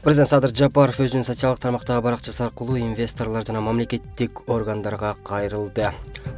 Президент Садыр Жапаров өзүнүн социалдык тармактагы баракчасы аркылуу инвесторлор жана мамлекеттик органдарга кайрылды.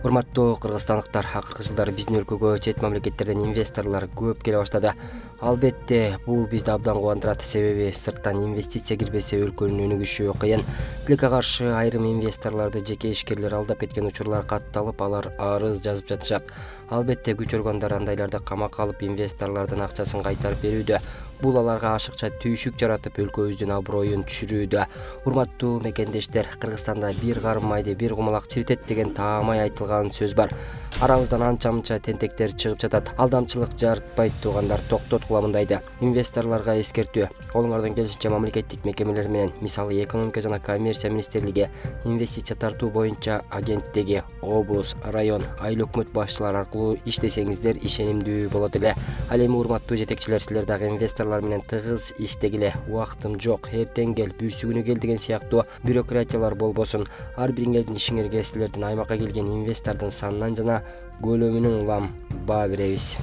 Урматтуу кыргызстандыктар, акыркы жылдары биздин өлкөгө чет мамлекеттерден инвесторлор көп келе баштады. Албетте, бул бизди абдан кубандырат, себеби сырттан инвестиция кирбесе өлкөнүн өнүгүшү кыйын. Тилекке каршы айрым инвесторлорду жеке ишкерлер алдап кеткен учурлар катталып, алар арыз жазып жатышат. Албетте, күч органдары андайларды камакка алып, инвесторлордун акчасын кайтарып берүүдө. Бул аларга ашыкча түйшүк жаратып, өлкөбүздүн аброюн түшүрүүдө. Урматтуу мекендештер, Кыргызстанда бир карым майды бир кумалак чиритет деген таамай айтылган сөз бар. Арабыздан анча-мынча тентектер чыгып жатат. Алдамчылык жарытпайт туугандар, токтоткула мындайды. Инвесторлорго эскертүү. Колуңардан келишинче мамлекеттик мекемелер менен, мисалы экономика жана коммерция министрлиги, инвестиция тартуу боюнча агенттиги, облус, район, айыл өкмөт башчылары аркылуу иштесеңиздер ишенимдүү болот эле. Ал эми урматтуу жетекчилер, силер дагы инвесторлор менен тыгыз иштегиле. Убактым жок, эртең кел, бүрсүгүнү кел деген сыяктуу бюрократиялар болбосун. Ар бириңердин ишиңерге силердин аймакка келген инвестордун санынан жана көлөмүнөн улам баа беребиз.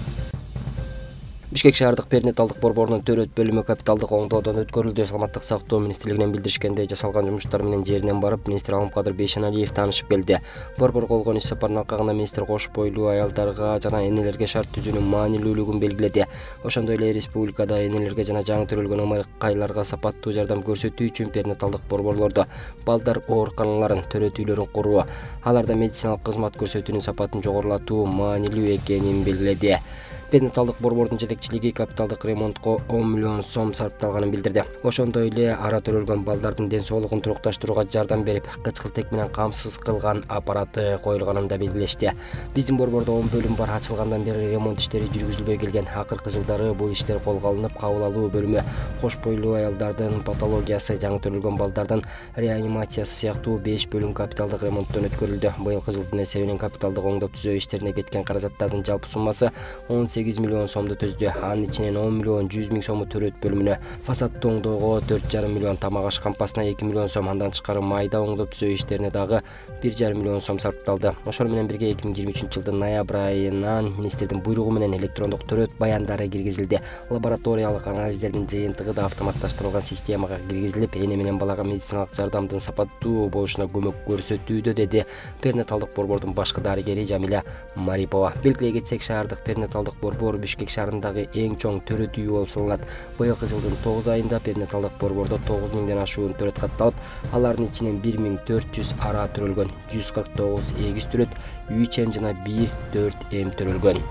Бишкек шаардык перинаталдык борборунун төрөт бөлүмү капиталдык оңдоодон өткөрүлдү. Саламаттык сактоо министрлигинен билдиришкендей, жасалган жумуштар менен жеринен барып, министр Алымкадыр Бейшеналиев таанышып келди. Борбор болгон иш сапарынын алкагында министр кош бойлуу аялдарга жана энелерге шарт түзүүнүн маанилүүлүгүн белгиледи. Ошондой эле республикада энелерге жана жаңы төрөлгөн ымыркайларга сапаттуу жардам көрсөтүү үчүн перинаталдык борборлордо балдар ооруканаларын, төрөт үйлөрүн куруу, аларда медициналык кызмат көрсөтүүнүн сапатын жогорулатуу маанилүү экенин белгиледи. Перинаталдык борбордун жетекчилиги капиталдык ремонтко 10 миллион сом сарпталганын билдирди. Ошондой эле ара төрөлгөн балдардын ден соолугун турукташтырууга жардам берип, кычкылтек менен камсыз кылган аппараты коюлганын да белгилешти. Биздин борбордо 10 бөлүм бар, ачылгандан бери ремонт иштери жүргүзүлбөй келген. Акыркы жылдары бул иштер колго алынып, кабыл алуу бөлүмү, кош бойлуу аялдардын патологиясы, жаңы төрөлгөн балдардын реанимациясы сыяктуу 5 бөлүм капиталдык ремонттон өткөрүлдү. Быйылкы жылдын эсебинен капиталдык оңдоп түзөө иштерине кеткен каражаттардын жалпы суммасы 18 миллион сомду түздү. Анын ичинен 10 миллион 100 миң сому төрөт бөлүмүнө, фасадты оңдоого 4,5 миллион, тамак аш кампасына 2 миллион сом, андан тышкары майда оңдоп түзөө иштерине дагы 1,5 миллион сом сарпталды. Ошону менен бирге 2023 жылдын ноябрь айынан министрдин буйругу менен электрондук төрөт баяндары киргизилди. Лабораториялык анализдердин жыйынтыгы да автоматташтырылган системага киргизилип, эне менен балага медициналык жардамдын сапаттуу болушуна көмөк көрсөтүүдө, деди перинаталдык борбордун башкы дарыгери Жамиля Марипова. Белгилей кетсек, шаардык перинаталдык борбор Бишкек шаарындагы эң чоң төрөт үйү болуп саналат. Быйылкы жылдын 9 айында перинаталдык борбордо 9 миңден ашуун төрөт катталып, алардын ичинен 1400 ара төрөлгөн, 149 эгиз төрөт, 3 эм жана 1-4 эм төрөлгөн.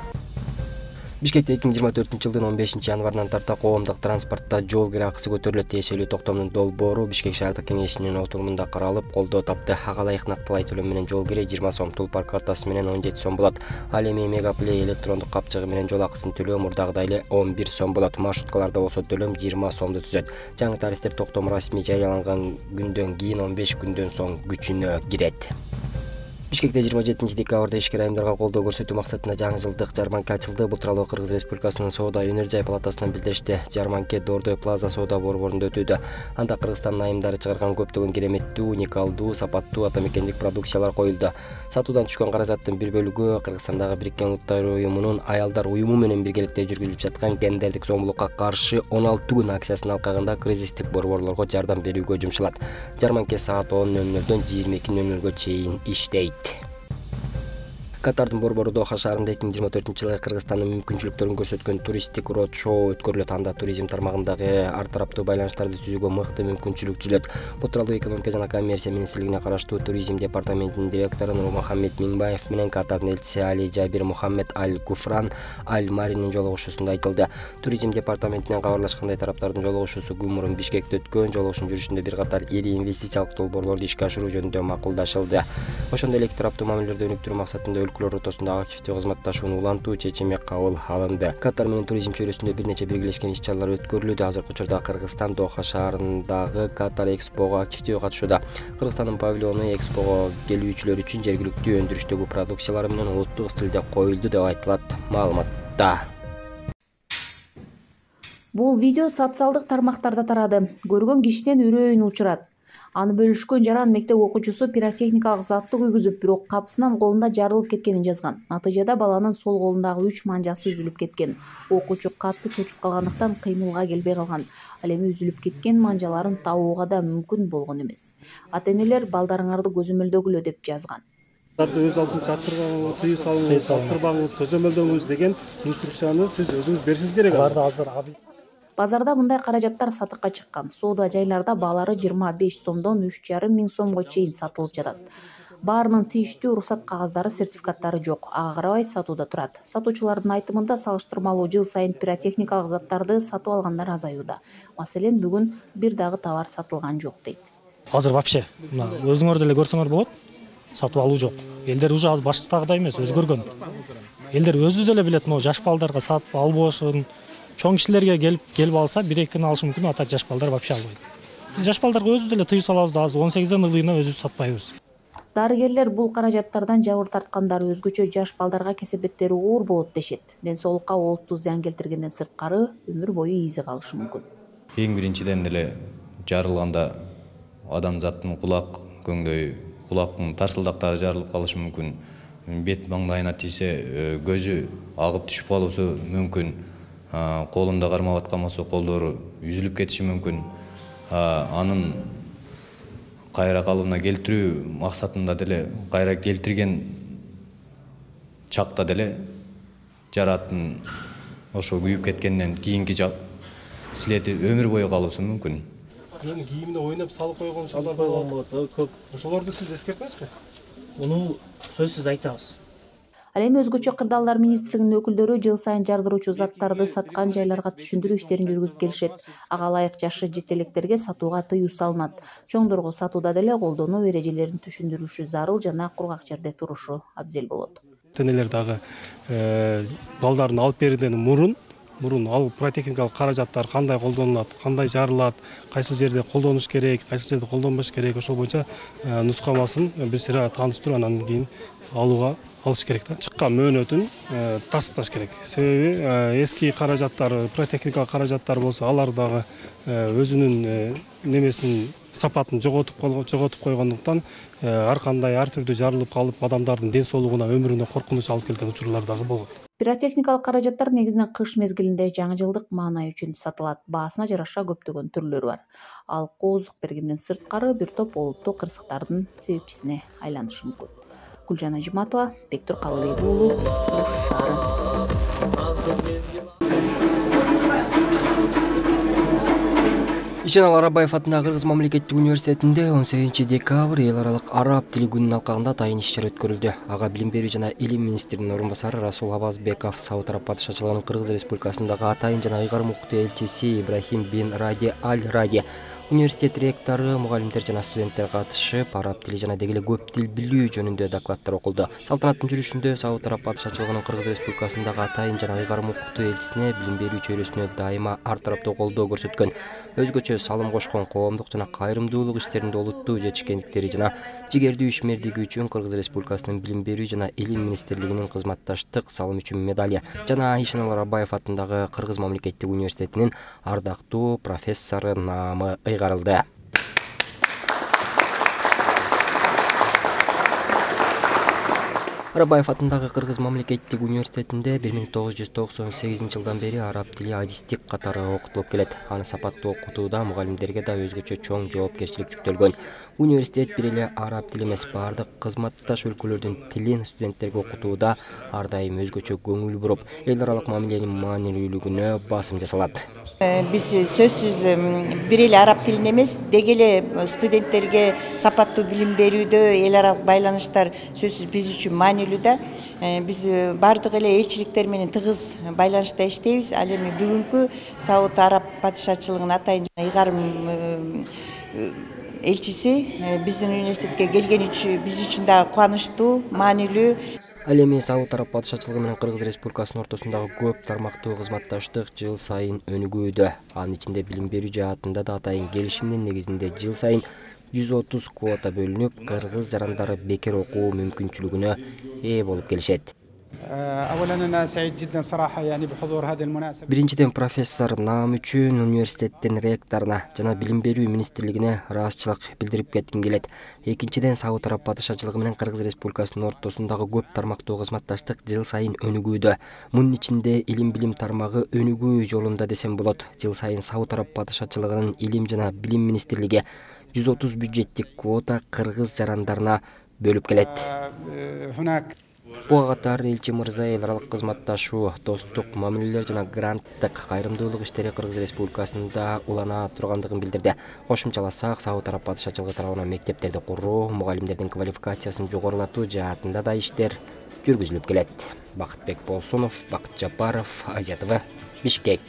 Бишкекте 2024 жылдын 15 январынан тарта коомдук транспортто жол кире акысы көтөрүлөт. Тиешелүү токтомдун долбоору Бишкек шаардык кеңешинин отурумунда каралып, колдоо тапты. Ага ылайык нактылай төлөм менен жол кире 20 сом, Тулпар картасы менен 17 сом болот. Ал эми Мегаплей электрондук капчыгы менен жол акысын төлөө мурдагыдай эле 11 сом болот. Маршруткаларда болсо төлөм 20 сомду түзөт. Жаңы тарифтер токтом расмий жарыяланган күндөн кийин 15 күндөн соң күчүнө кирет. Бишкекте 27 декабрда ишкер айымдарга колдоо көрсөтүү максатында жаңы жылдык жарманка ачылды. Бул тууралуу Кыргыз Республикасынын соода өнөр жай палатасынан билдиришти. Жарманке Дордой Плаза соода борборунда өтүүдө. Анда Кыргызстандын айымдары чыгарган көптөгөн кереметтүү, уникалдуу, сапаттуу атамекендик продукциялар коюлду. Сатуудан түшкөн каражаттын бир бөлүгү Кыргызстандагы Бириккен Улуттар уюмунун аялдар уюму менен биргеликте жүргүзүлүп жаткан гендердик зомбулукка каршы 16 күн акциясынын алкагында кризистик борборлорго жардам берүүгө жумшалат. Жарманке саат 10:00-дөн 22:00-гө чейин иштейт. Катардын борбору Доха шаарында 2024 жылы Кыргызстандын мүмкүнчүлүктөрүн көрсөткөн туристтик род-шоу өткөрүлөт. Анда туризм тармагындагы ар тараптуу байланыштарды түзүүгө мыкты мүмкүнчүлүк түзүлөт. Бул тууралуу экономика жана коммерция министрлигине караштуу туризм департаментинин директору Нурмухаммед Миңбаев менен Катардын элчиси Али Жабир Мухаммед Аль-Куфран Аль-Маринин жолугушуусунда айтылды. Туризм департаментинен кабарлашкандай, тараптардын жолугушуусу күн мурун Бишкекте өткөн. Жолугушуунун жүрүшүндө бир катар ири инвестициялык долбоорлорду ишке ашыруу жөнүндө макулдашылды. Ошондой эле эки тараптуу мамилелерди өнүктүрүү максатында өлкөлөр ортосунда активдүү кызматташууну улантуу чечими кабыл алынды. Катар менен туризм чөйрөсүндө бир нече биргелешкен иш-чаралар өткөрүлүүдө. Азыркы учурда Кыргызстан Доха шаарындагы Катар Экспого активдүү катышууда. Кыргызстандын павильону Экспого келүүчүлөр үчүн жергиликтүү өндүрүштөгү продукциялар менен улуттук стилде коюлду деп айтылат маалыматта. Бул видео социалдык тармактарда тарады. Көргөн кишинин үрөйүн учурат. Аны бөлүшкөн жаран мектеп окуучусу пиротехникалык затты күйгүзүп, бирок капсынан колунда жарылып кеткенин жазган. Натыйжада баланын сол колундагы 3 манжасы үзүлүп кеткен. Окуучу катты чочуп калгандыктан кыймылга келбей калган. Ал эми үзүлүп кеткен манжаларын табууга да мүмкүн болгон эмес. Ата-энелер балдарыңарды көзөмөлдөгүлө деп жазган. Өз алдын чаттырбаңыз, тыюу салыңыз, чаттырбаңыз, көзөмөлдөңүз деген инструкцияны сиз өзүңүз беришиңиз керек. Базарда мындай каражаттар сатыкка чыккан. Соода жайларда баалары 25 сомдон 3,5 миң сомго чейин сатылып жатат. Баарынын тийиштүү уруксат кагаздары, сертификаттары жок. Ага карабай сатууда турат. Сатуучулардын айтымында салыштырмалуу жыл сайын пиротехникалык заттарды сатып алгандар азаюуда. Маселен, бүгүн бир дагы товар сатылган жок дейт. Азыр вообще мына өзүңөр деле көрсөңөр болот. Сатып алуу жок. Элдер уже азыр баштагыдай эмес, өзгөргөн. Элдер өзү деле билет, но жаш балдарга сатып албашын. Чоң кишилерге келип алса, 1-2 күн алышы мүмкүн, а так жаш балдар вообще албайт. Биз жаш балдарга өзү деле тыюу салабыз да, азыр 18ден ылдыйына өзүбүз сатпайбыз. Дарыгерлер бул каражаттардан жабыр тарткандары өзгөчө жаш балдарга кесепеттери оор болот дешет. Ден соолукка олуттуу зыян келтиргенден сырткары өмүр бою изи калышы мүмкүн. Эң биринчиден деле жарылганда адамзаттын кулак көңдөй, кулактын тарсылдактары жарылып калышы мүмкүн. Бет маңдайына тийсе көзү агып түшүп калышы мүмкүн. Колунда кармап аткан болсо колдору үзүлүп кетиши мүмкүн. Анын кайра калыбына келтирүү максатында деле кайра келтирген чакта деле жараттын ошо күйүп кеткенден кийинки слети өмүр бою калышы мүмкүн. Кийимине ойноп салып койгон шалар болот, көп. Ошолорду сиз эскертесизби? Муну сөзсүз айтабыз. Ал эми өзгөчө кырдаалдар министрлигинин өкүлдөрү жыл сайын жардыруучу заттарды саткан жайларга түшүндүрүү иштерин жүргүзүп келишет. Ага ылайык жашы жете электерге сатууга тыюу салынат. Чоңдорго сатууда деле колдонуу эрежелерин түшүндүрүшү зарыл жана кургак жерде турушу абзел болот. Ата-энелер дагы балдарын алып берүүдөн мурун ал пиротехникалык каражаттар кандай колдонулат, кандай жарылат, кайсы жерде колдонуш керек, кайсы жерде колдонбош керек, ошол боюнча нускамасын бир сыйра тааныштырып анан кийин алыш керек да. Чыккан мөөнөтүн тасташ керек. Себеби эски каражаттар, пиротехникалык каражаттар болсо, алар дагы өзүнүн немесин, сапатын жоготуп койгондуктан ар кандай ар түрдүү жарылып калып, адамдардын ден соолугуна, өмүрүнө коркунуч алып келген учурлар дагы болот. Пиротехникалык каражаттар негизинен кыш мезгилинде жаңы жылдык маанай үчүн сатылат. Баасына жараша көптөгөн түрлөрү бар. Ал кооздук бергенден сырткары бир топ олуттуу кырсыктардын себепчисине айланышы мүмкүн. Гүлжан Ажиматова, Бектур Калыбек уулу, Ош шаары. Ишенал Арабаев атындагы Кыргыз мамлекеттик университетинде 18 декабрь эл аралык араб тили күнүнүн алкагында атайын иш-чара өткөрүлдү. Ага билим берүү жана илим министринин орун басары Расул Абазбеков, Сауд Араб падышачылыгынын Кыргыз Республикасындагы атайын жана ыйгарым укуктуу элчиси Ибрахим бин Ради Аль-Ради, университет ректору, мугалимдер жана студенттер катышып, араб тили жана деги эле көп тил билүү жөнүндө докладдар окулду. Салтанаттын жүрүшүндө Сауд Араб падышачылыгынын Кыргыз Республикасындагы атайын жана ыйгарым укуктуу элчисине билим берүү чөйрөсүнө дайыма ар тараптуу колдоо көрсөткөн, өзгөчө салым кошкон коомдук жана кайрымдуулук иштеринде олуттуу жетишкендиктери жана жигердүү ишмердиги үчүн Кыргыз Республикасынын билим берүү жана илим министрлигинин кызматташтык салым үчүн медаль жана Ишенал Арабаев атындагы Кыргыз мамлекеттик университетинин ардактуу профессору наамы ыйгарылды. Арабаев атындагы Кыргыз мамлекеттик университетинде 1998 жылдан бери араб тили адистик катары окутулуп келет. Аны сапаттуу окутууда мугалимдерге да өзгөчө чоң жоопкерчилик жүктөлгөн. Университет бир эле араб тили эмес, бардык кызматташ өлкөлөрдүн тилин студенттерге окутууда ар дайым өзгөчө көңүл буруп, эл аралык мамиленин маанилүүлүгүнө басым жасалат. Биз сөзсүз бир эле араб тилин эмес, деги эле студенттерге сапаттуу билим берүүдө эл аралык байланыштар сөзсүз биз үчүн маанилүү да. Биз бардык эле элчиликтер менен тыгыз байланышта иштейбиз. Ал эми бүгүнкү Сауд Араб падышачылыгынын атайын ыйгарым элчиси биздин университетке келгени үчүн биз үчүн дагы кубанычтуу, маанилүү. Ал эми Сауд Араб падышачылыгы менен Кыргыз Республикасынын ортосундагы көп тармактуу кызматташтык жыл сайын өнүгүүдө. Анын ичинде билим берүү жаатында да атайын келишимдин негизинде жыл сайын 130 квота бөлүнүп, кыргыз жарандары бекер окуу мүмкүнчүлүгүнө ээ болуп келишет. Биринчиден профессор Наам үчүн университеттин ректоруна жана Билим берүү министрлигине ыраазычылык билдирип кетким келет. Экинчиден Сауд Араб падышачылыгы менен Кыргыз Республикасынын ортосундагы көп тармактуу кызматташтык жыл сайын өнүгүүдө. Мунун ичинде илим билим тармагы өнүгүү жолунда десем болот. Жыл сайын Сауд Араб падышачылыгынын илим жана билим министрлиги 130 бюджеттик квота кыргыз жарандарына бөлүп келет. Буга катар элчи мырза эл аралык кызматташуу, достук мамилелер жана гранттык кайрымдуулук иштери Кыргыз Республикасында улана тургандыгын билдирди. Кошумчаласак, Сауд Араб падышачылыгы тарабынан мектептерди куруу, мугалимдердин квалификациясын жогорулатуу жаатында да иштер жүргүзүлүп келет. Бакытбек Болсунов, Бакыт Жапаров, Азия ТВ, Бишкек.